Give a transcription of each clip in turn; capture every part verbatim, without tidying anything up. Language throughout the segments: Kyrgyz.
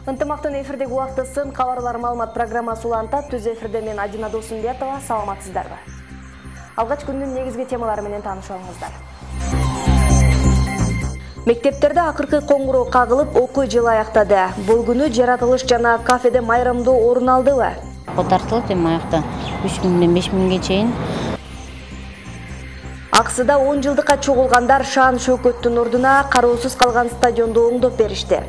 Ынтымактын эфирдеги убактысын кабарлар маалымат программасы улантат. Түз эфирде мен Адина Досумбетова. Саламатсыздарбы? Алгач күндүн негизги темалары менен таанышыңыздар. Мектептерде акыркы коңгуроо кагылып, окуу жылы аяктады. Бул күнү жаратылыш жана кафеде майрамдоо орун алдыбы? Котартылып эми аякта үч миңден беш миңге чейин. Аксыда он жылдыкка чогулгандар шаан шөкөттүн ордуна кароосуз калган стадионду оңдоп беришти.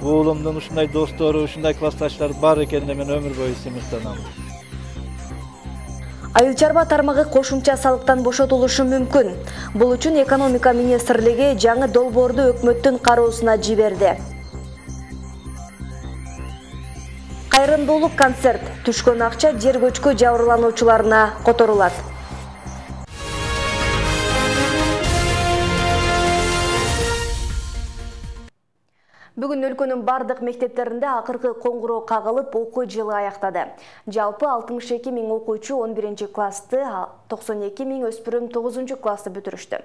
Уулумдун ушундай достору, ушундай классташтар бар экенине мен өмүр бою сыймыктанам. Айыл чарба тармагы кошумча салыктан бошотулушу мүмкүн. Бул үчүн экономика министрлиги жаңы долбоорду өкмөттүн кароосуна жиберди. Кайрымдуулук концерт. Түшкөн акча жер көчкү жабырлануучуларына которулат. Бүгүн өлкөнүн бардык мектептеринде акыркы коңгуроо кагылып, окуу жылы аяктады. Жалпы алтымыш эки миң окуучу он биринчи классты, токсон эки миң өспүрүм тогузунчу классты бүтүрүштү.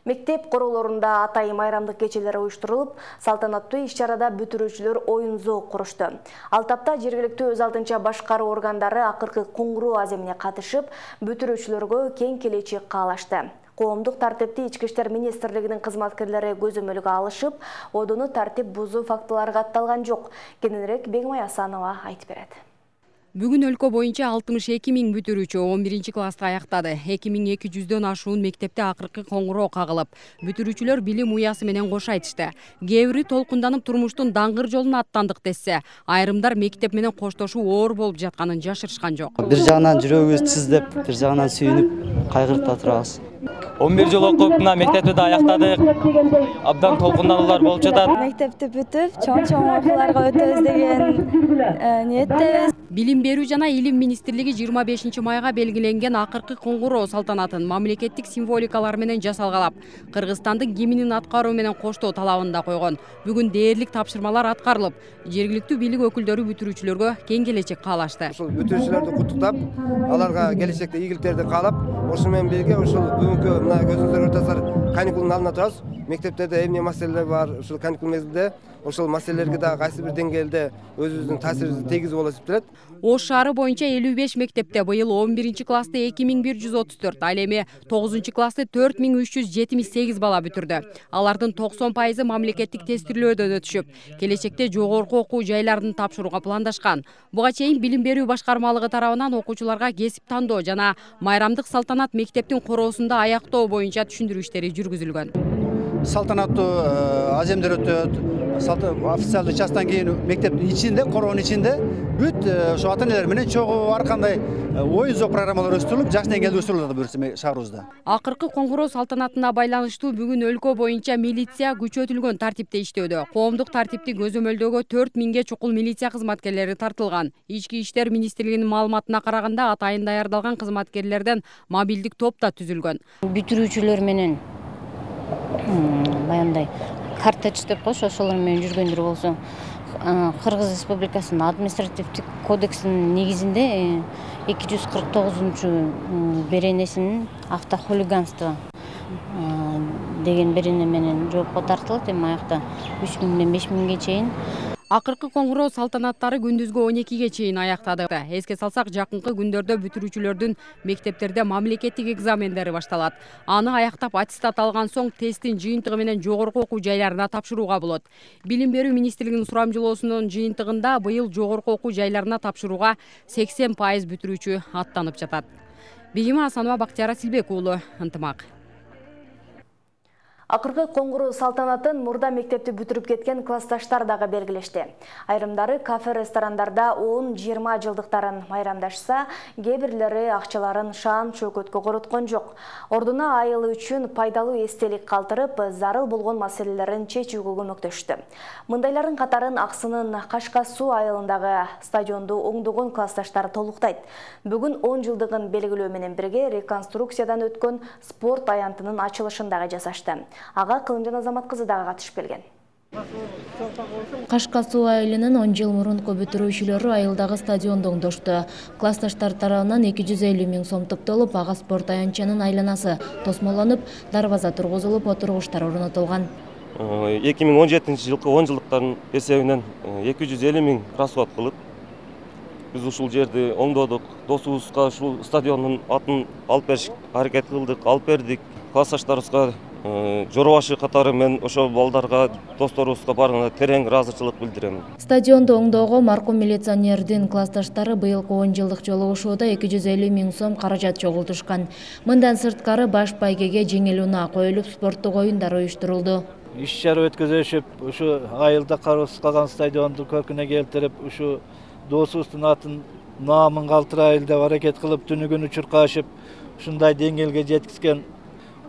Мектеп королорунда атайын майрамдык кечелер уюштурулуп, салтанаттуу иш-чарада бүтүрүүчүлөр оюн зоок курушту. Ал тапта жергиликтүү өз алдынча башкаруу органдары акыркы коңгуроо аземине катышып, бүтүрүүчүлөргө кең келечек каалашты. Коомдук тартипти Ички иштер министрлигинин кызматкерлери көзөмөлгө алышып, одуну тартип бузуу фактылары катталган жок. Кененирээк Бегмай Асанова айтып берет. Бүгүн өлкө боюнча алтымыш эки миң бүтүрүүчү он биринчи классты аяктады. эки миң эки жүздөн ашуун мектепте акыркы коңгуроо кагылып, бүтүрүүчүлөр билим уясы менен кош айтышты. Кээ бири толкунданып турмуштун даңгыр жолуна аттандык десе, айрымдар мектеп менен коштошуу оор болуп жатканын жашырышкан жок. Бир жагынан жүрөгүбүз тиздеп, бир жагынан сүйүнүп, кайгырып да турабыз. он бир жыл окуп, мына мектепти да аяктадык. Абдан толкундануулар болуп жатат. Мектепти бүтүп, чоң-чоң окууларга өтөбүз деген ниеттебиз. Билим берүү жана илим министрлиги жыйырма бешинчи майга белгиленген акыркы коңгуроо салтанатын мамлекеттик символикалар менен жасалгалап, Кыргызстандын гимнин аткаруу менен коштоо талабын да койгон. Бүгүн дээрлик тапшырмалар аткарылып, жергиликтүү бийлик өкүлдөрү бүтүрүүчүлөргө кең келечек каалашты. Ушул бүтүрүүчүлөрдү куттуктап, аларга келечекте ийгиликтерди каалап, ошол менен бирге ушул бүгүнкү мына көзүңүздөр көрүп каникулдун алдында турабыз. Мектептерде эмне маселелер бар, ушул каникул мезгилде ошол маселелерге да кайсы бир деңгээлде өзүбүздүн таасирибизди тийгизип болуп эсептелет. Ош шаары боюнча элүү беш мектепте быйыл он биринчи классты эки миң бир жүз отуз төрт, ал эми тогузунчу классты төрт миң үч жүз жетимиш сегиз бала бүтүрдү. Алардын токсон пайызы мамлекеттик тестирлөөдөн өтүшүп, келечекте жогорку окуу жайларын тапшырууга пландашкан. Буга чейин билим берүү башкармалыгы тарабынан окуучуларга кесип тандоо жана майрамдык салтанат мектептин короосунда аяктоо боюнча түшүндүрүү иштери жүргүзүлгөн. Салтанаттуу аземдер өтөт. Официалдуу частан кийин мектептин ичинде, короонун ичинде бүт ошо ата-энелер менен чогуу ар кандай оюн зоок программалар өстүрүлүп, жаш деңгээлде өстүрүлөт буюрса шаарыбызда. Акыркы коңгуроо салтанатына байланыштуу бүгүн өлкө боюнча милиция күчөтүлгөн тартипте иштөөдө. Коомдук тартипти көзөмөлдөөгө төрт миңге чукул милиция кызматкерлери тартылган. Ички иштер министрлигинин маалыматына караганда атайын даярдалган кызматкерлерден мобилдик топ да түзүлгөн. Бүтүрүүчүлөр менен баяндай картач деп кош, ошолор менен жүргөндөр болсо, Кыргыз Республикасынын административдик кодексинин негизинде эки жүз кырк тогузунчу беренесинин автохулиганство деген берене менен жоопко тартылат. Эми аякта үч миңден беш миңге чейин. Акыркы коңгуроо салтанаттары күндүзгү он экиге чейин аяктады. Эске салсак, жакынкы күндөрдө бүтүрүүчүлөрдүн мектептерде мамлекеттик экзамендери башталат. Аны аяктап аттестат алган соң тесттин жыйынтыгы менен жогорку окуу жайларына тапшырууга болот. Билим берүү министрлигинин сурамжылоосунун жыйынтыгында быйыл жогорку окуу жайларына тапшырууга сексен пайыз бүтүрүүчү аттанып жатат. Бегима Асанова, Бактияр Асилбек уулу, Ынтымак. Акыркы коңгуроо салтанатын мурда мектепти бүтүрүп кеткен классташтар дагы белгилешти. Айрымдары кафе ресторандарда он жыйырма жылдыктарын майрамдашса, кээ бирлери акчаларын шаан чөкөткө короткон жок. Ордуна айыл үчүн пайдалуу эстелик калтырып, зарыл болгон маселелерин чечүүгө көмөктөштү. Мындайлардын катарын Аксынын Кашка суу айылындагы стадионду оңдогон классташтар толуктайт. Бүгүн он жылдыгын белгилөө менен бирге реконструкциядан өткөн спорт аянтынын ачылышындагы жасашты. Ага Кылымжан Азамат кызы дагы катышып келген. Кашка суу айылынын он жыл мурунку бүтүрүүчүлөрү айылдагы стадионду оңдошту. Классташтар тарабынан эки жүз элүү миң сом топтолуп, ага спорт аянтчанын айланасы тосмолонуп, дарбаза тургузулуп, отургучтар орнотулган. эки миң он жетинчи жылкы он жылдыктардын эсебинен эки жүз элүү миң расход кылып, биз ушул жерди оңдодук. Досубузга ушул стадиондун атын алып бериш аракет кылдык, алып бердик. Классташтарыбызга жора башы катары мен ошол балдарга, досторубузга баарына терең ыраазычылык билдирем. Стадионду оңдоого маркум милиционердин классташтары быйылкы он жылдык жолугушууда эки жүз элүү миң сом каражат чогултушкан. Мындан сырткары баш байгеге жеңил унаа коюлуп, спорттук оюндар уюштурулду. Иш чара өткөзүшүп, ушу айылда кароосуз калган стадионду көркүнө келтирип, ушу досубуздун атын наамын калтырайлы деп аракет кылып, түнү күнү чуркашып, ушундай деңгээлге жеткизген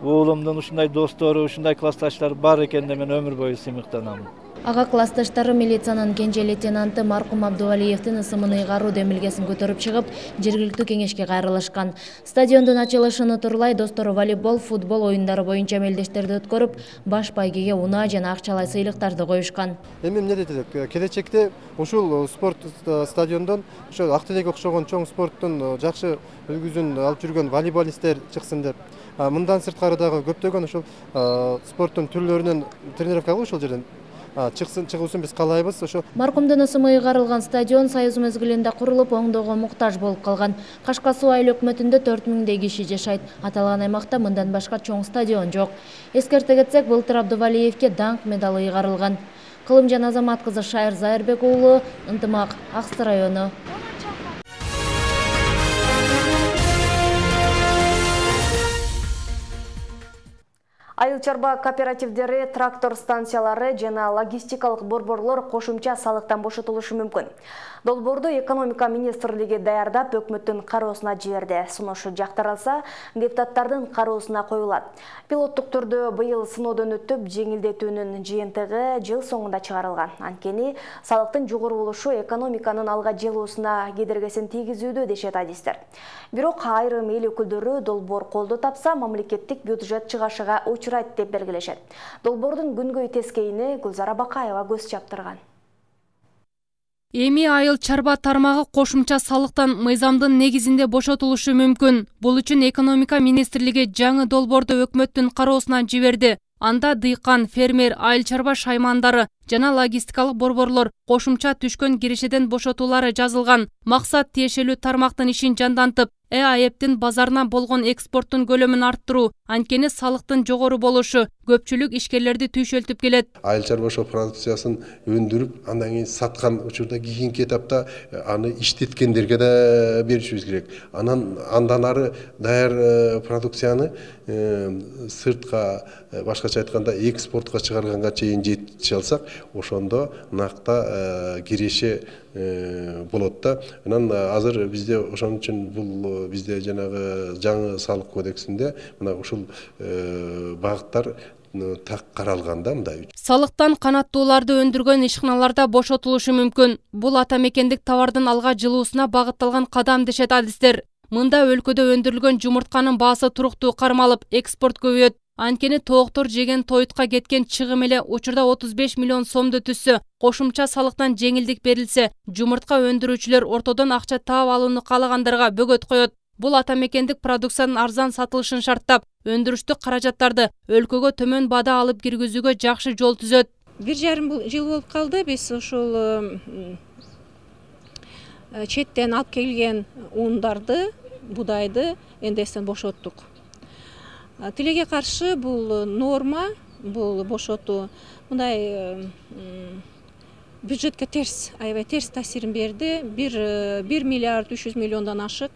уулумдун ушундай достору, ушундай классташтары бар экенине мен өмүр бою сыймыктанам. Ага классташтары милициянын кенже лейтенанты маркум Абдувалиевдин ысымын ыйгаруу демилгесин көтөрүп чыгып, жергиликтүү кеңешке кайрылышкан. Стадиондун ачылышын турлай достору волейбол, футбол оюндары боюнча мелдештерди өткөрүп, баш байгеге унаа жана акчалай сыйлыктарды коюшкан. Эми эмне дейт? Келечекте ушул спорт стадиондон ошо Актелек окшогон чоң спорттун жакшы үлгүсүн алып жүргөн волейболисттер чыксын деп. Мындан сырткары дагы көптөгөн ушул спорттун түрлөрүнөн тренировка кылып ушул жерден чыксын чыгуусун биз каалайбыз. Ошо маркумдун ысымы ыйгарылган стадион Союз мезгилинде курулуп, оңдоого муктаж болуп калган. Кашка суу айыл өкмөтүндө төрт миңдей киши жашайт. Аталган аймакта мындан башка чоң стадион жок. Эскерте кетсек, былтыр Абдувалиевке даңк медалы ыйгарылган. Кылымжан Азамат кызы Шайыр Зайырбек уулу, Ынтымак, Аксы району. Айыл чарба кооперативдери, трактор станциялары жана логистикалык борборлор кошумча салыктан бошотулушу мүмкүн. Долбоорду экономика министрлиги даярдап, өкмөттүн кароосуна жиберди. Сунушу жактырылса, депутаттардын кароосуна коюлат. Пилоттук түрдө быйыл сыноодон өтүп, жеңилдетүүнүн жыйынтыгы жыл соңунда чыгарылган. Анткени салыктын жогору болушу экономиканын алга жылуусуна кедергисин тийгизүүдө дешет адистер. Бирок айрым эл өкүлдөрү долбоор колдоо тапса, мамлекеттик бюджет чыгашыга учурайт деп белгилешет. Долбоордун күнгөй тескейини Гүлзара Бакаева көз чаптырган. Эми айыл чарба тармагы кошумча салыктан мыйзамдын негизинде бошотулушу мүмкүн. Бул үчүн экономика министрлиги жаңы долбоорду өкмөттүн кароосуна жиберди. Анда дыйкан, фермер, айыл чарба шаймандары жана логистикалык борборлор кошумча түшкөн кирешеден бошотуулары жазылган. Максат тиешелүү тармактын ишин жандантып, Э А Э П'тин базарына болгон экспорттун көлөмүн арттыруу, анткени салыктын жогору болушу көпчүлүк ишкерлерди түйшөлтүп келет. Айыл чарба продукциясын өндүрүп, андан кийин саткан учурда кийинки этапта аны иштеткендерге да беришибиз керек. Анан андан ары даяр продукцияны сыртка, башкача айтканда экспортко чыгарганга чейин жетише алсак, ошондо накта киреше болот да. Анан азыр бизде ошон үчүн бул бизде жанагы жаңы салык кодексинде мына ушул багыттар так каралган да мындай. Салыктан канаттууларды өндүргөн ишканаларда бошотулушу мүмкүн. Бул ата мекендик товардын алга жылуусуна багытталган кадам дешет адистер. Мында өлкөдө өндүрүлгөн жумуртканын баасы туруктуу кармалып, экспорт көбөйөт. Анткени тооктор жеген тоютка кеткен чыгым эле учурда отуз беш миллион сомду түзсө, кошумча салыктан жеңилдик берилсе, жумуртка өндүрүүчүлөр ортодон акча таап алууну каалагандарга бөгөт коет. Бул ата мекендик продукциянын арзан сатылышын шарттап, өндүрүштүк каражаттарды өлкөгө төмөн баада алып киргизүүгө жакшы жол түзөт. Бир жарым жыл болуп калды биз ушул четтен алып келген ундарды, будайды эндестен бошоттук. Тилеге каршы бул норма, бул бошотуу мындай бюджетке терс, аябай терс таасирин берди. бир миллиард үч жүз миллиондон ашык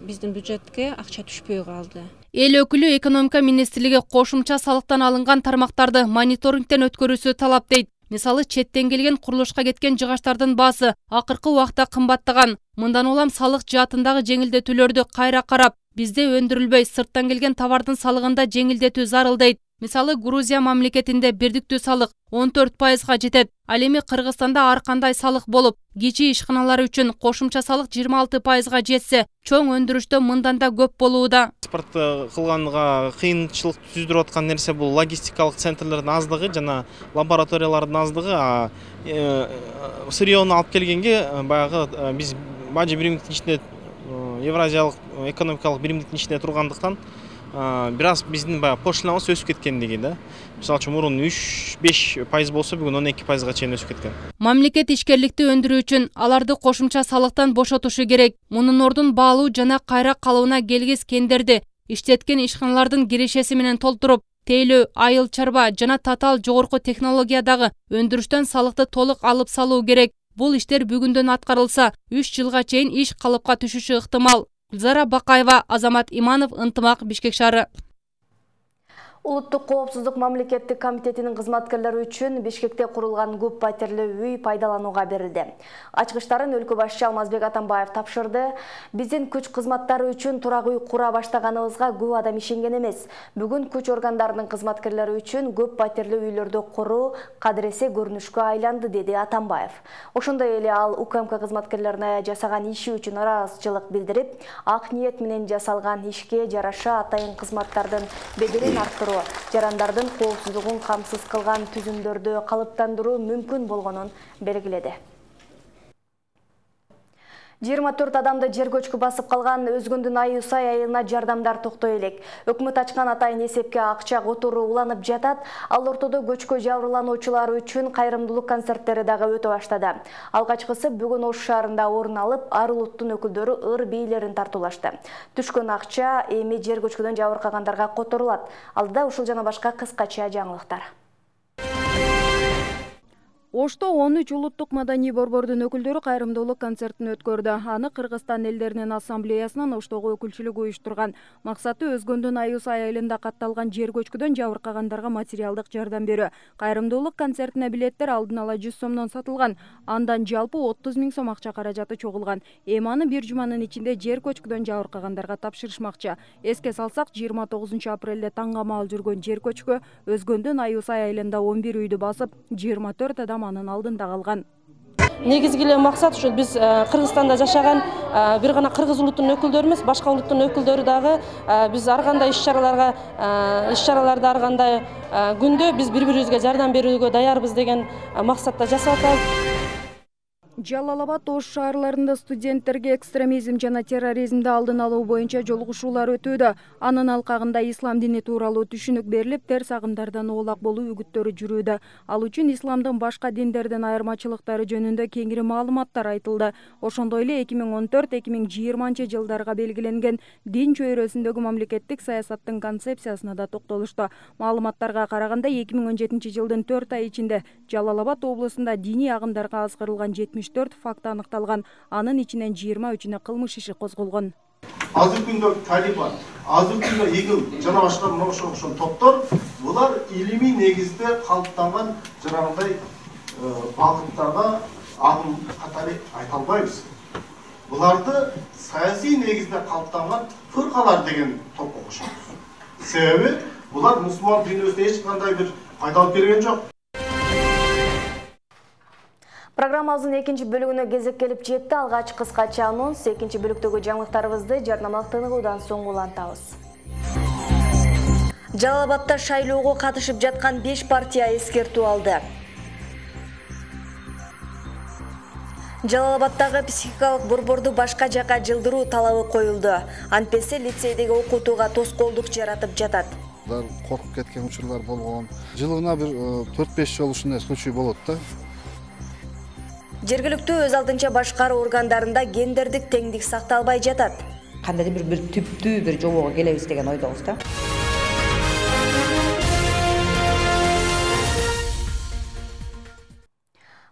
биздин бюджетке акча түшпөй калды. Эл өкүлү экономика министрлиги кошумча салыктан алынган тармактарды мониторингден өткөрүүсү талап дейт. Мисалы, четтен келген курулушка кеткен жыгачтардын баасы акыркы убакта кымбаттаган. Мындан улам салык жаатындагы жеңилдетүүлөрдү кайра карап, бизде өндүрүлбөй сырттан келген товардын салыгында жеңилдетүү зарыл дейт. Мисалы, Грузия мамлекетинде бирдиктүү салык он төрт пайызга жетет. Ал эми Кыргызстанда ар кандай салык болуп, кичи ишканалар үчүн кошумча салык жыйырма алты пайызга жетсе, чоң өндүрүштө мындан да көп болууда. Экспорт кылганга кыйынчылык түздүрүп аткан нерсе бул логистикалык центрлердин аздыгы жана лабораториялардын аздыгы. Сырьёну алып келгенге баягы биз бажы биримдиктин ичинде Евразиялык экономикалык биримдиктин ичинде тургандыктан бир аз биздин баягы пошлинабыз өсүп кеткендиги да. Мисалы үчүн мурун үч беш пайыз болсо бүгүн он эки пайызга чейин өсүп кеткен. Мамлекет ишкерликти өндүрүү үчүн аларды кошумча салыктан бошотушу керек. Мунун ордун баалуу жана кайра калыбына келгис кендерди иштеткен ишканалардын кирешеси менен толтуруп, тейлөө, айыл чарба жана татаал жогорку технологиядагы өндүрүштөн салыкты толук алып салуу керек. Бул иштер бүгүндөн аткарылса, үч жылга чейин иш калыпка түшүшү ыктымал. Гүлзара Бакаева, Азамат Иманов, Ынтымак, Бишкек шаары. Улуттук коопсуздук мамлекеттик комитетинин кызматкерлери үчүн Бишкекте курулган көп патерлүү үй пайдаланууга берилди. Ачкычтарын өлкө башчы Алмазбек Атамбаев тапшырды. Биздин күч кызматтары үчүн турак үй кура баштаганыбызга көп адам ишенген эмес. Бүгүн күч органдарынын кызматкерлери үчүн көп патерлүү үйлөрдү куруу кадыресе көрүнүшкө айланды, деди Атамбаев. Ошондой эле ал УКМК кызматкерлерине жасаган иши үчүн ыраазычылык билдирип, ак ниет менен жасалган ишке жараша атайын кызматтардын беделин арттыруу, жарандардын коопсуздугун камсыз кылган түзүмдөрдү калыптандыруу мүмкүн болгонун белгиледи. жыйырма төрт адамды жер көчкү басып калган Өзгөндүн Аюсай айылына жардамдар токтой элек. Өкмөт ачкан атайын эсепке акча которуу уланып жатат. Ал ортодо көчкө жабырлануучулар үчүн кайрымдуулук концерттери дагы өтө баштады. Алгачкысы бүгүн Ош шаарында орун алып, ар улуттун өкүлдөрү ыр бийлерин тартуулашты. Түшкөн акча эми жер көчкүдөн жабыркагандарга которулат. Алдыда ушул жана башка кыскача жаңылыктар. Ошто он үч улуттук маданий борбордун өкүлдөрү кайрымдуулук концертин өткөрдү. Аны Кыргызстан элдеринин ассамблеясынын Оштогу өкүлчүлүгү уюштурган. Максаты Өзгөндүн Аюсай айылында катталган жер көчкүдөн жабыркагандарга материалдык жардам берүү. Кайрымдуулук концертине билеттер алдын ала жүз сомдон сатылган. Андан жалпы отуз миң сом акча каражаты чогулган. Эми аны бир жуманын ичинде жер көчкүдөн жабыркагандарга тапшырышмакчы. Эске салсак, жыйырма тогузунчу апрелде таңга маал жүргөн жер көчкү Өзгөндүн Аюсай айылында он бир үйдү басып, жыйырма төрт адам анын алдында калган. Негизги эле максат ушу биз Кыргызстанда жашаган бир гана кыргыз улутунун өкүлдөрү эмес, башка улуттун өкүлдөрү дагы биз ар кандай иш-чараларга иш-чараларды ар кандай күндө биз бири-бирибизге жардам берүүгө даярбыз деген максатта жасап атабыз. Жалал Абад, Ош шаарларында студенттерге экстремизм жана терроризмди алдын алуу боюнча жолугушуулар өтүүдө. Анын алкагында ислам дини тууралуу түшүнүк берилип, терс агымдардан оолак болуу үгүттөрү жүрүүдө. Ал үчүн исламдын башка диндерден айырмачылыктары жөнүндө кеңири маалыматтар айтылды. Ошондой эле эки миң он төрт эки миң жыйырманчы жылдарга белгиленген дин чөйрөсүндөгү мамлекеттик саясаттын концепциясына да токтолушту. Маалыматтарга караганда эки миң он жетинчи жылдын төрт ай ичинде Жалал Абад облусунда диний агымдарга азгырылган жетимиш төрт факт аныкталган. Анын ичинен жыйырма үчүнө кылмыш иши козголгон. Азыркы күндө Талибан, азыркы күндө ИГИЛ жана башка мына ошол топтор, булар илимий негизде калыптанган жанагындай багыттарга агым катары айта албайбыз. Буларды саясий негизде калыптанган фыркалар деген топко кошобуз. Себеби булар мусулман дүйнөсүнө эч кандай бир пайда алып берген жок. Программабыздын экинчи бөлүгүнө кезек келип жетти. Алгач кыскача анонс, экинчи бөлүктөгү жаңылыктарыбызды жарнамалык тыныгуудан соң улантабыз. Жалал Абадда шайлоого катышып жаткан беш партия эскертүү алды. Жалал Абаддагы психикалык борборду башка жака жылдыруу талабы коюлду. Антпесе лицейдеги окутууга тоскоолдук жаратып жатат. Коркуп кеткен учурлар болгон. Жылына бир төрт беш жолу ушундай случай болот да. Жергиликтүү өз алдынча башкаруу органдарында гендердик теңдик сакталбай жатат. Кандайдыр бир түптүү бир жобого келебиз деген ойдобуз да.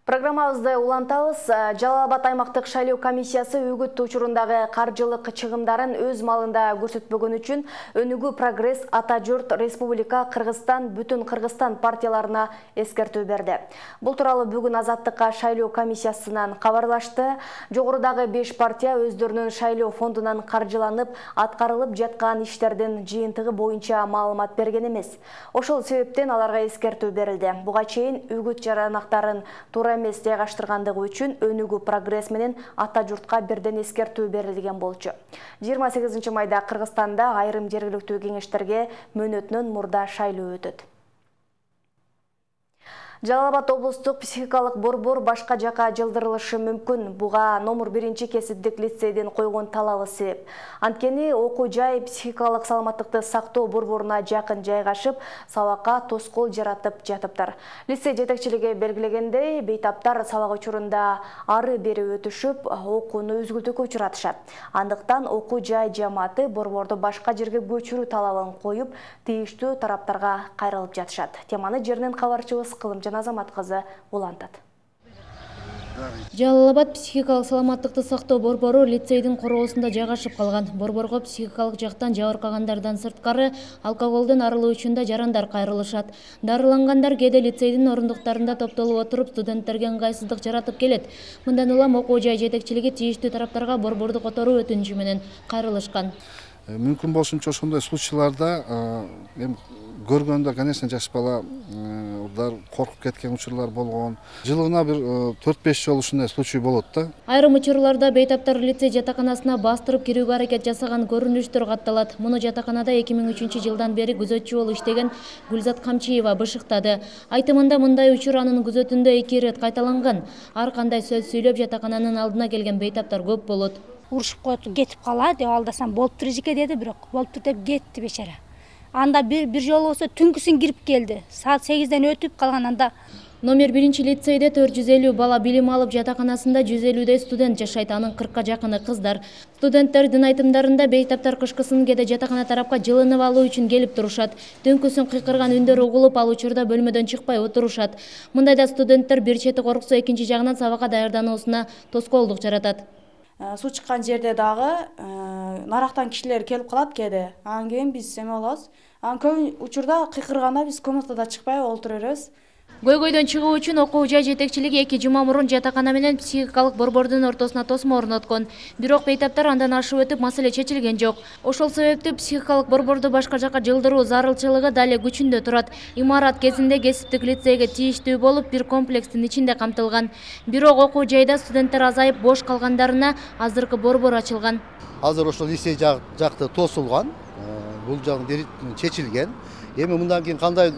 Программабызды улантабыз. Жалал Абад аймактык шайлоо комиссиясы үгүт учурундагы каржылык чыгымдарын өз малында көрсөтпөгөн үчүн Өнүгүү Прогресс, Ата журт, Республика, Кыргызстан, Бүтүн Кыргызстан партияларына эскертүү берди. Бул тууралуу бүгүн Азаттыкка шайлоо комиссиясынан кабарлашты. Жогорудагы беш партия өздөрүнүн шайлоо фондунан каржыланып, аткарылып жаткан иштердин жыйынтыгы боюнча маалымат берген эмес. Ошол себептен аларга эскертүү берилди. Буга чейин үгүт жаранактарын туура эмес жайгаштыргандыгы үчүн Өнүгүү Прогресс менен Ата журтка бирден эскертүү берилген болчу. жыйырма сегизинчи майда Кыргызстанда айрым жергиликтүү кеңештерге мөөнөтүнөн мурда шайлоо өтөт. Жалал Абад облустук психикалык борбор башка жака жылдырылышы мүмкүн. Буга номер биринчи кесиптик лицейдин койгон талабы себеп. Анткени окуу жай психикалык саламаттыкты сактоо борборуна жакын жайгашып, сабакка тоскоол жаратып жатыптыр. Лицей жетекчилиги белгилегендей, бейтаптар сабак учурунда ары бери өтүшүп, окууну үзгүлтүүгө учуратышат. Андыктан окуу жай жамааты борборду башка жерге көчүрүү талабын коюп, тийиштүү тараптарга кайрылып жатышат. Теманы жеринен кабарчыбыз Кылымжан Азамат кызы улантат. Жалал Абад психикалык саламаттыкты сактоо борбору лицейдин короосунда жайгашып калган. Борборго психикалык жактан жабыркагандардан сырткары алкоголдон арылуу үчүн да жарандар кайрылышат. Дарылангандар кээде лицейдин орундуктарында топтолуп отуруп студенттерге ыңгайсыздык жаратып келет. Мындан улам окуу жай жетекчилиги тийиштүү тараптарга борборду которуу өтүнүчү менен кайрылышкан. Мүмкүн болушунча ошондой случайларда эми көргөндө, конечно, жаш бала коркуп кеткен учурлар болгон. Жылына бир төрт беш жолу ушундай случай болот да. Айрым учурларда бейтаптар лицей жатаканасына бастырып кирүүгө аракет жасаган көрүнүштөр катталат. Муну жатаканада эки миң үчүнчү жылдан бери күзөтчү болуп иштеген Гүлзат Камчиева бышыктады. Айтымында мындай учур анын күзөтүндө эки ирет кайталанган. Ар кандай сөз сүйлөп жатакананын алдына келген бейтаптар көп болот. Урушуп коет, кетип калат деп алдасам болуптур эжеке деди, бирок болуптур деп кетти бечара. Анда бир бир жолу болсо түнкүсүн кирип келди. Саат сегизден өтүп калган анда. Номер биринчи лицейде төрт жүз элүү бала билим алып, жатаканасында жүз элүүдөй студент жашайт, анын кыркка жакыны кыздар. Студенттердин айтымдарында бейтаптар кышкысын кээде жатакана тарапка жылынып алуу үчүн келип турушат. Түнкүсүн кыйкырган үндөр угулуп, ал учурда бөлмөдөн чыкпай отурушат. Мындайда студенттер бир чети корксо, экинчи жагынан сабакка даярдануусуна тоскоолдук жаратат. Суу чыккан жерде дагы нарактан кишилер келип калат кээде. Анан кийин биз эме болобуз. Анан көп учурда кыйкырганда биз комнатада чыкпай олтура беребиз. Көйгөйдөн чыгуу үчүн окуу жай жетекчилиги эки жума мурун жатакана менен психикалык борбордун ортосуна тосмо орноткон. Бирок бейтаптар андан ашып өтүп, маселе чечилген жок. Ошол себептүү психикалык борборду башка жака жылдыруу зарылчылыгы дале күчүндө турат. Имарат кезинде кесиптик лицейге тийиштүү болуп, бир комплекстин ичинде камтылган. Бирок окуу жайда студенттер азайып, бош калгандарына азыркы борбор ачылган. Азыр ошол лицей жакты тосулган, бул жагы чечилген. Эми мындан кийин кандай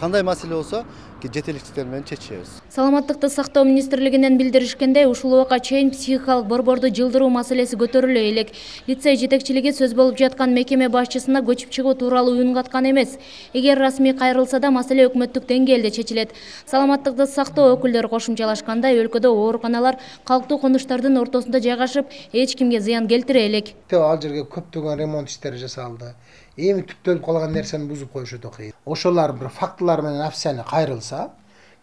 кандай маселе болсо жетекчиликтер менен чечебиз. Саламаттыкты сактоо министрлигинен билдиришкендей, ушул убакка чейин психикалык борборду жылдыруу маселеси көтөрүлө элек. Лицей жетекчилиги сөз болуп жаткан мекеме башчысына көчүп чыгуу тууралуу үн каткан эмес. Эгер расмий кайрылса да маселе өкмөттүк деңгээлде чечилет. Саламаттыкты сактоо өкүлдөрү кошумчалашкандай, өлкөдө ооруканалар калктуу конуштардын ортосунда жайгашып, эч кимге зыян келтире элек. Ал жерге көптөгөн ремонт иштери жасалды. Эми түптөлүп калган нерсени бузуп коюш өтө кыйын. Ошолор бир фактылар менен официально кайрылса,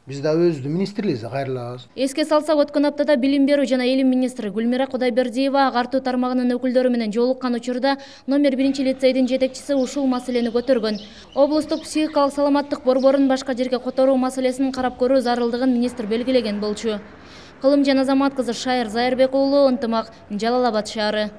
биз да өзүбүздүн министрлигибизде кайрылабыз. Эске салсак, өткөн аптада билим берүү жана илим министри Гүлмира Кудайбердиева агартуу тармагынын өкүлдөрү менен жолуккан учурда номер биринчи лицейдин жетекчиси ушул маселени көтөргөн. Облустук психикалык саламаттык борборун башка жерге которуу маселесин карап көрүү зарылдыгын министр белгилеген болчу. Кылымжан Азамат кызы, Шайыр Зайырбек уулу, Ынтымак, Жалал Абад шаары.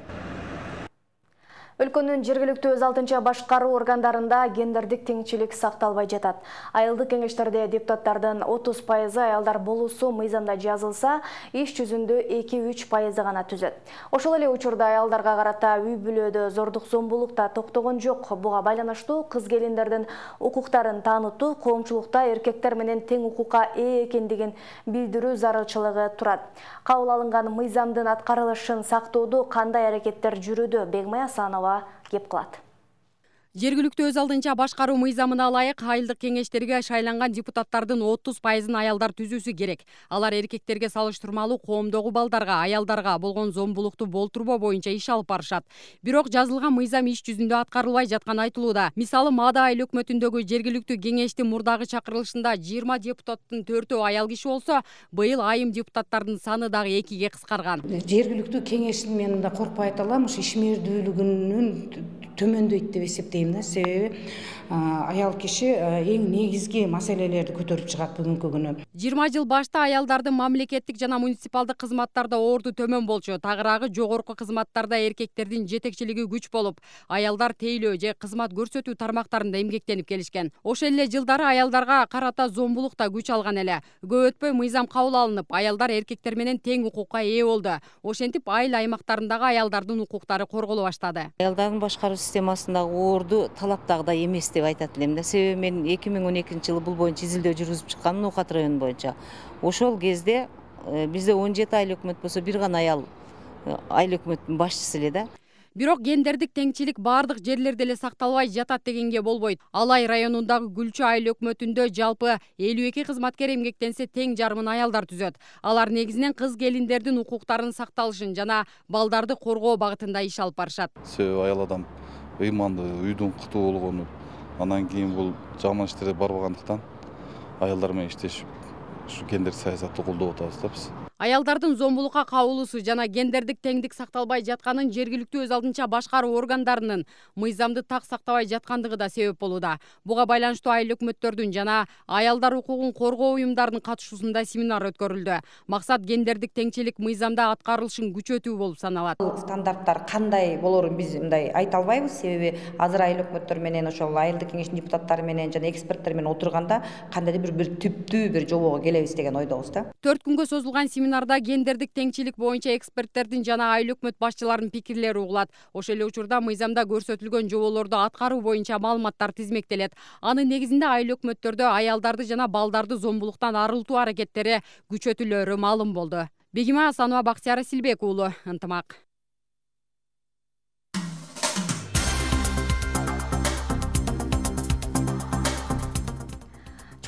Өлкөнүн жергиликтүү өз алтынча башкаруу органдарында гендердик теңчилик сакталбай жатат. Айылдык кеңештерде депутаттардын отуз пайызы аялдар болуусу мыйзамда жазылса, иш жүзүндө эки үч пайызы гана түзөт. Ошол эле учурда аялдарга карата үй бүлөдө зордук зомбулук да токтогон жок. Буга байланыштуу кыз келиндердин укуктарын таанытуу, коомчулукта эркектер менен тең укукка ээ экендигин билдирүү зарылчылыгы турат. Кабыл алынган мыйзамдын аткарылышын сактоодо кандай аракеттер жүрүүдө? Бегмай Асанова кеп кылат. Жергиликтүү өз алдынча башкаруу мыйзамына ылайык айылдык кеңештерге шайланган депутаттардын отуз пайызын аялдар түзүүсү керек. Алар эркектерге салыштырмалуу коомдогу балдарга, аялдарга болгон зомбулукту болтурбоо боюнча иш алып барышат. Бирок жазылган мыйзам иш жүзүндө аткарылбай жатканы айтылууда. Мисалы, Маада айыл өкмөтүндөгү жергиликтүү кеңештин мурдагы чакырылышында жыйырма депутаттын төртөө аял киши болсо, быйыл айым депутаттардын саны дагы экиге кыскарган. Жергиликтүү кеңештин мен да коркпой айта алам, ушу ишмердүүлүгүнүн төмөндөйт деп эсептейм да. Себеби аял киши эң негизги маселелерди көтөрүп чыгат бүгүнкү күнү. жыйырма жыл башта аялдардын мамлекеттик жана муниципалдык кызматтарда орду төмөн болчу. Тагыраагы жогорку кызматтарда эркектердин жетекчилиги күч болуп, аялдар тейлөө же кызмат көрсөтүү тармактарында эмгектенип келишкен. Ошол эле жылдары аялдарга карата зомбулук да күч алган эле. Көп өтпөй мыйзам кабыл алынып, аялдар эркектер менен тең укукка ээ болду. Ошентип айыл аймактарындагы аялдардын укуктары корголо баштады. Аялдардын башкаруусу системасындагы орду талаптагыдай эмес деп айтат элем да. Себеби мен эки миң он экинчи жылы бул боюнча изилдөө жүргүзүп чыкканмын Ноокат району боюнча. Ошол кезде бизде он жети айыл өкмөт болсо бир гана аял айыл өкмөттүн башчысы эле да. Бирок гендердик теңчилик бардык жерлерде эле сакталбай жатат дегенге болбойт. Алай районундагы Гүлчү айыл өкмөтүндө жалпы элүү эки кызматкер эмгектенсе тең жарымын аялдар түзөт. Алар негизинен кыз келиндердин укуктарынын сакталышын жана балдарды коргоо багытында иш алып барышат. Себеби аял адам ыймандуу, үйдүн куту болгону, анан кийин бул жаман иштерге барбагандыктан аялдар менен иштешип ушу гендер саясатты колдоп атабыз да биз. Аялдардын зомбулукка кабылуусу жана гендердик теңдик сакталбай жатканын жергиликтүү өз алдынча башкаруу органдарынын мыйзамды так сактабай жаткандыгы да себеп болууда. Буга байланыштуу айыл өкмөттөрдүн жана аялдар укугун коргоо уюмдарынын катышуусунда семинар өткөрүлдү. Максат гендердик теңчилик мыйзамда аткарылышын күчөтүү болуп саналат. Стандарттар кандай болорун биз мындай айта албайбыз, себеби азыр айыл өкмөттөр менен ошол айылдык кеңештин депутаттары менен жана эксперттер менен отурганда кандайдыр бир бир түптүү бир жобого келебиз деген ойдобуз да. төрт күнгө созулган семинарда гендердик теңчилик боюнча эксперттердин жана айыл өкмөт башчыларынын пикирлери угулат. Ошол эле учурда мыйзамда көрсөтүлгөн жоболорду аткаруу боюнча маалыматтар тизмектелет. Анын негизинде айыл өкмөттөрдө аялдарды жана балдарды зомбулуктан арылтуу аракеттери күчөтүлөрү маалым болду. Бегима Асанова, Бактияр Силбек уулу, Ынтымак.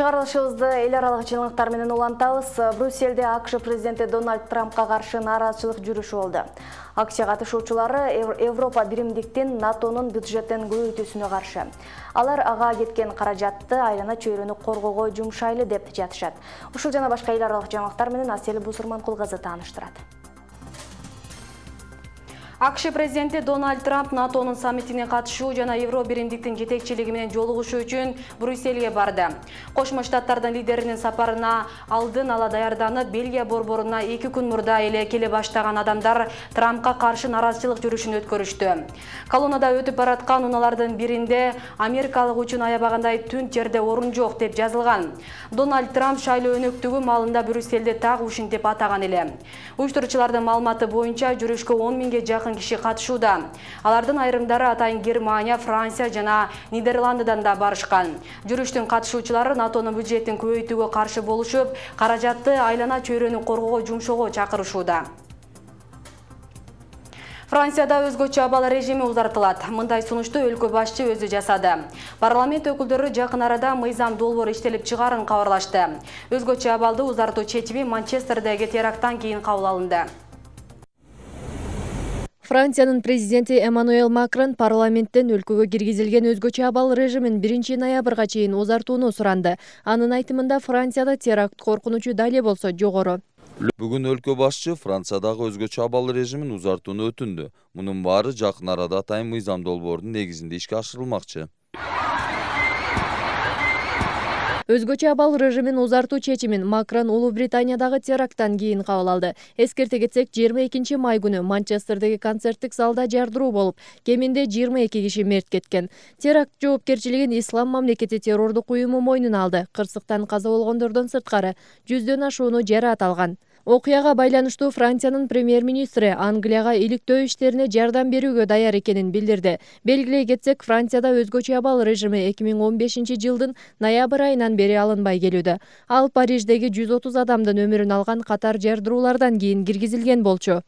Чыгарылышыбызды эл аралык жылыңыктар менен улантабыз. Брюссельде АКШ президенти Дональд Трампка каршы нааразычылык жүрүшү болду. Акция катышуучулары Европа биримдиктин НАТОнун бюджеттин көбөйтүүсүнө каршы. Алар ага кеткен каражатты айлана чөйрөнү коргоого жумшайлы деп жатышат. Ушул жана башка эл аралык жаңылыктар менен Асель Бусурманкул кызы тааныштырат. АКШ президенти Дональд Трамп НАТОнун саммитине катышуу жана Евро биримдиктин жетекчилиги менен жолугушуу үчүн Брюссельге барды. Кошмо Штаттардын лидеринин сапарына алдын ала даярданып, Бельгия борборуна эки күн мурда эле келе баштаган адамдар Трампка каршы нааразычылык жүрүшүн өткөрүштү. Колоннада өтүп бараткан унаалардын биринде америкалык үчүн аябагандай түн жерде орун жок деп жазылган. Дональд Трамп шайлоо өнөктүгү маалында Брюссельде так ушинтип атаган эле. Уюштуруучулардын маалыматы боюнча жүрүшкө он миңге жакын киши катышууда. Алардын айрымдары атайын Германия, Франция жана Нидерландыдан да барышкан. Жүрүштүн катышуучулары НАТОнун бюджеттин көбөйтүүгө каршы болушуп, каражатты айлана чөйрөнү коргоого жумшоого чакырышууда. Францияда өзгөчө абал режими узартылат. Мындай сунушту өлкө башчы өзү жасады. Парламент өкүлдөрү жакын арада мыйзам долбоор иштелип чыгарын кабарлашты. Өзгөчө абалды узартуу чечими Манчестердеги теракттан кийин кабыл алынды. Франциянын президенти Эммануэл Макрон парламенттен өлкөгө киргизилген өзгөчө абал режимин биринчи ноябрга чейин узартууну суранды. Анын айтымында Францияда теракт коркунучу дале болсо жогору. Бүгүн өлкө башчы Франциядагы өзгөчө абал режимин узартууну өтүндү. Мунун баары жакын арада атайын мыйзам долбоордун негизинде ишке ашырылмакчы. Өзгөчө абал режимин узартуу чечимин Макрон Улуу Британиядагы теракттан кийин кабыл алды. Эскерте кетсек, жыйырма экинчи май күнү Манчестердеги концерттик залда жардыруу болуп, кеминде жыйырма эки киши мерт кеткен. Теракт жоопкерчилигин Ислам мамлекети террордук уюму мойнуна алды. Кырсыктан каза болгондордон сырткары жүздөн ашууну жараат алган. Окуяга байланыштуу Франциянын премьер-министри Англияга иликтөө иштерине жардам берүүгө даяр экенин билдирди. Белгилей кетсек, Францияда өзгөчө абал режими эки миң он бешинчи жылдын ноябрь айынан бери алынбай келүүдө. Ал Париждеги жүз отуз адамдын өмүрүн алган катар жардыруулардан кийин киргизилген болчу.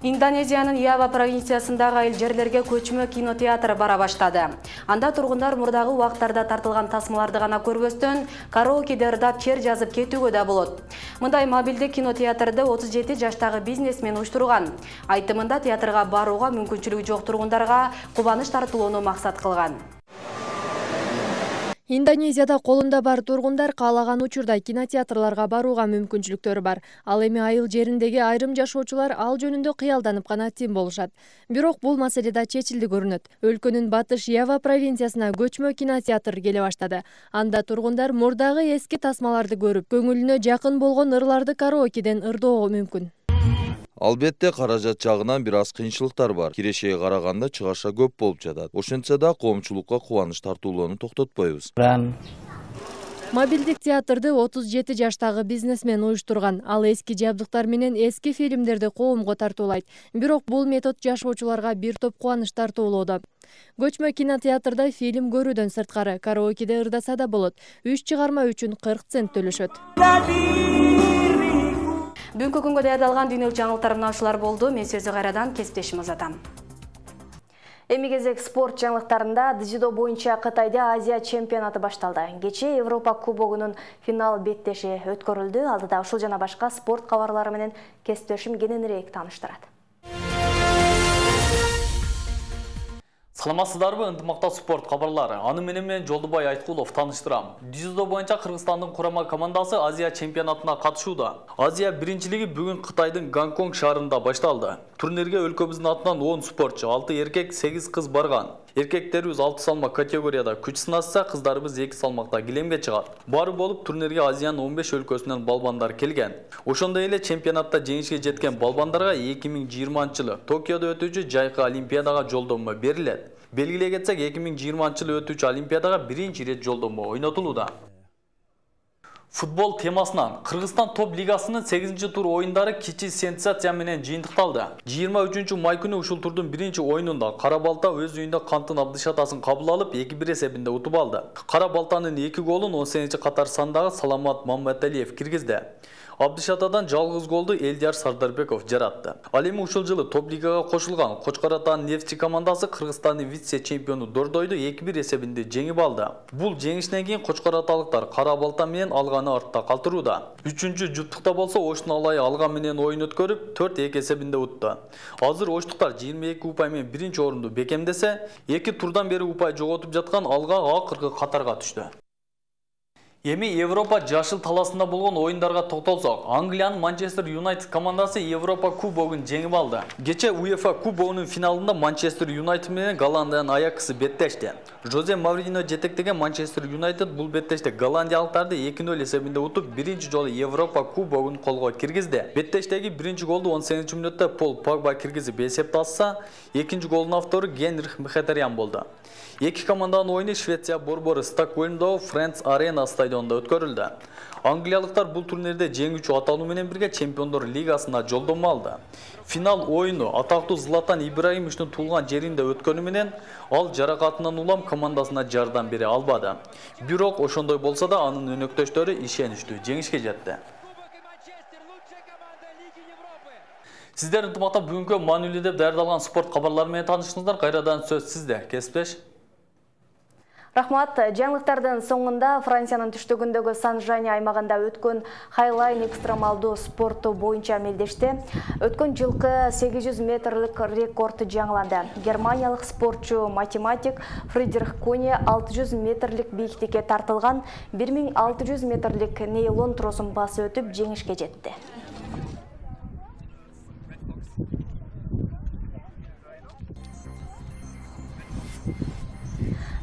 Индонезиянын Ява провинциясындагы айыл жерлерге көчмө кинотеатр бара баштады. Анда тургундар мурдагы убактарда тартылган тасмаларды гана көрбөстөн, караокеде ырдап чер жазып кетүүгө да болот. Мындай мобилдик кинотеатрды отуз жети жаштагы бизнесмен уюштурган. Айтымында театрга барууга мүмкүнчүлүгү жок тургундарга кубаныч тартуулоону максат кылган. Индонезияда колунда бар тургундар каалаган учурда кинотеатрларга барууга мүмкүнчүлүктөрү бар. Ал эми айыл жериндеги айрым жашоочулар ал жөнүндө кыялданып гана тим болушат. Бирок бул маселе да чечилди көрүнөт. Өлкөнүн батыш Ява провинциясына көчмө кинотеатр келе баштады. Анда тургундар мурдагы эски тасмаларды көрүп, көңүлүнө жакын болгон ырларды караокеден ырдоого мүмкүн. Албетте каражат жагынан бир аз кыйынчылыктар бар. Кирешеге караганда чыгаша көп болуп жатат. Ошентсе да коомчулукка кубаныч тартуулоону токтотпойбуз. Мобилдик театрды отуз жети жаштагы бизнесмен уюштурган. Ал эски жабдыктар менен эски фильмдерди коомго тартуулайт. Бирок бул метод жашоочуларга бир топ кубаныч тартуулоодо. Көчмө кинотеатрда фильм көрүүдөн сырткары караокеде ырдаса да болот. Үч чыгарма үчүн кырк цент төлөшөт. Бүгүнкү күнгө даярдалган дүйнөлүк жаңылыктар мына ушулар болду. Мен сөзү кайрадан кесиптешим узатам. Эми кезек спорт жаңылыктарында дзюдо боюнча Кытайда Азия чемпионаты башталды. Кечээ Европа кубогунун финал беттеши өткөрүлдү. Алдыда ушул жана башка спорт кабарлары менен кесиптешим кененирээк тааныштырат. Саламатсыздарбы, ынтымакта спорт кабарлары. Аны менен мен Жолдубай Айткулов тааныштырам. Дзюдо боюнча Кыргызстандын курама командасы Азия чемпионатына катышууда. Азия биринчилиги бүгүн Кытайдын Гонконг шаарында башталды. Турнирге өлкөбүздүн атынан он спортчу, алты эркек, сегиз кыз барган. Эркектерибиз алты салмак категорияда күч сынашса, кыздарыбыз эки салмакта килемге чыгат. Баары болуп турнирге Азиянын он беш өлкөсүнөн балбандар келген. Ошондой эле чемпионатта жеңишке жеткен балбандарга эки миң жыйырманчы жылы Токиодо өтүүчү жайкы олимпиадага жолдомо берилет. Белгилей кетсек, эки миң жыйырманчы жылы өтүүчү олимпиадага биринчи ирет жолдомо ойнотулууда. Футбол темасынан Кыргызстан топ лигасынын сегизинчи тур оюндары кичи сенсация менен жыйынтыкталды. жыйырма үчүнчү май күнү ушул турдун биринчи оюнунда Кара Балта өз үйүндө Кантын Абдышатасын кабыл алып эки бир эсебинде утуп алды. Кара Балтанын эки голун он сегизинчи катар сандагы Саламат Мамматалиев киргизди. Абдышатадан жалгыз голду Элдияр Сардарбеков жаратты. Ал эми ушул жылы топ лигага кошулган Кочкор Атанын Нефти командасы Кыргызстандын вице-чемпиону Дордойду эки бир эсебинде жеңип алды. Бул жеңиштен кийин Кочкор Аталыктар Кара Балта менен алганы артта калтырууда. Үчүнчү жуптукта болсо Оштун Алайы алган менен оюн өткөрүп төрт эки эсебинде утты. Азыр оштуктар жыйырма эки упай менен биринчи орунду бекемдесе, эки турдан бери упай жоготуп жаткан Алга акыркы катарга түштү. Эми Европа жашыл таласында болгон оюндарга токтолсок, Англиянын Манчестер Юнайтед командасы Европа кубогун жеңип алды. Кече УЕФА кубогунун финалында Манчестер Юнайтед менен Голландиянын Аяксы беттешти. Жозе Маврино жетектеген Манчестер Юнайтед бул беттеште голландиялыктарды эки нөл эсебинде утуп, биринчи жолу Европа кубогун колго киргизди. Беттештеги биринчи голду он сегизинчи мүнөттө Пол Погба киргизип эсепти ачса, экинчи голдун автору Генрих Мхетарян болду. Эки команданын оюну Швеция борбору Стокгольмдогу Friends Arena стадионунда өткөрүлдү. Англиялыктар бул турнирде жеңүүчү аталуу менен бирге Чемпиондор лигасына жолдомо алды. Финал оюну атактуу Златан Ибрагимовичтин туулган жеринде өткөнү менен ал жаракатынан улам командасына жардам бере албады. Бирок ошондой болсо да анын өнөктөштөрү ишеничтүү жеңишке жетти. Сиздер ынтымакта бүгүнкү маанилүү деп даярдалган спорт кабарлары менен тааныштыңыздар. Кайрадан сөз сизде. Кесиптеш. Рахмат. Жаңылыктардын соңунда Франциянын түштүгүндөгү Сан-Жане аймагында өткөн Хайлайн экстремалдуу спорту боюнча мелдеште өткөн жылкы сегиз жүз метрлик рекорд жаңыланды. Германиялык спортчу математик Фридрих Коне алты жүз метрлик бийиктикке тартылган бир миң алты жүз метрлик нейлон тросун басып өтүп жеңишке жетти.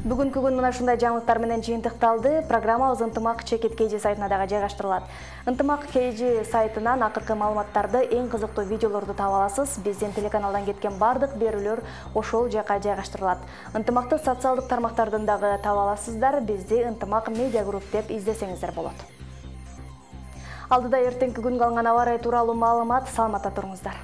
Бүгүнкү күн мына ушундай жаңылыктар менен жыйынтыкталды. Программабыз Ынтымак Чекит Кейжи сайтына дагы жайгаштырылат. Ынтымак Кейжи сайтынан акыркы маалыматтарды, эң кызыктуу видеолорду таба аласыз. Биздин телеканалдан кеткен бардык берүүлөр ошол жака жайгаштырылат. Ынтымакты социалдык тармактардан дагы таба аласыздар. Бизди Ынтымак медиа групп деп издесеңиздер болот. Алдыда эртеңки күнгө алынган аба ырайы тууралуу маалымат. Саламатта туруңуздар.